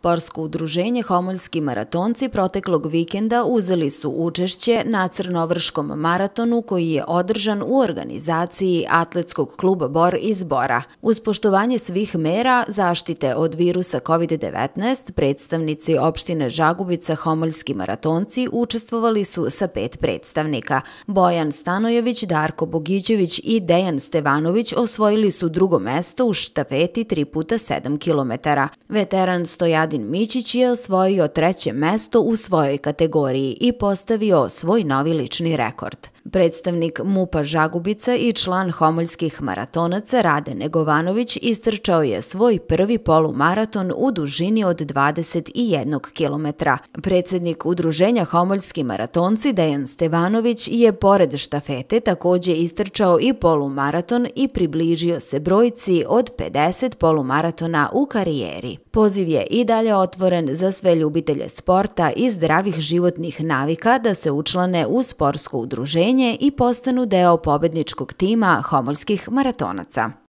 Sportsko udruženje Homoljski maratonci proteklog vikenda uzeli su učešće na Crnovrškom maratonu koji je održan u organizaciji Atletskog kluba Bor iz Bora. Uz poštovanje svih mera zaštite od virusa COVID-19, predstavnici opštine Žagubica Homoljski maratonci učestvovali su sa 5 predstavnika. Bojan Stanojević, Darko Bogićević i Dejan Stevanović osvojili su drugo mesto u štafeti 3x7 km. Veteran Stojadin Mićić je osvojio treće mesto u svojoj kategoriji i postavio svoj novi lični rekord. Predstavnik MUP-a Žagubica i član homoljskih maratonaca Rade Negovanović istrčao je svoj prvi polumaraton u dužini od 21 km. Predsednik udruženja Homoljski maratonci Dejan Stevanović je pored štafete također istrčao i polumaraton i približio se brojci od 50 polumaratona u karijeri. Poziv je i dalje otvoren za sve ljubitelje sporta i zdravih životnih navika da se učlane u sportsko udruženje i postanu deo pobedničkog tima homoljskih maratonaca.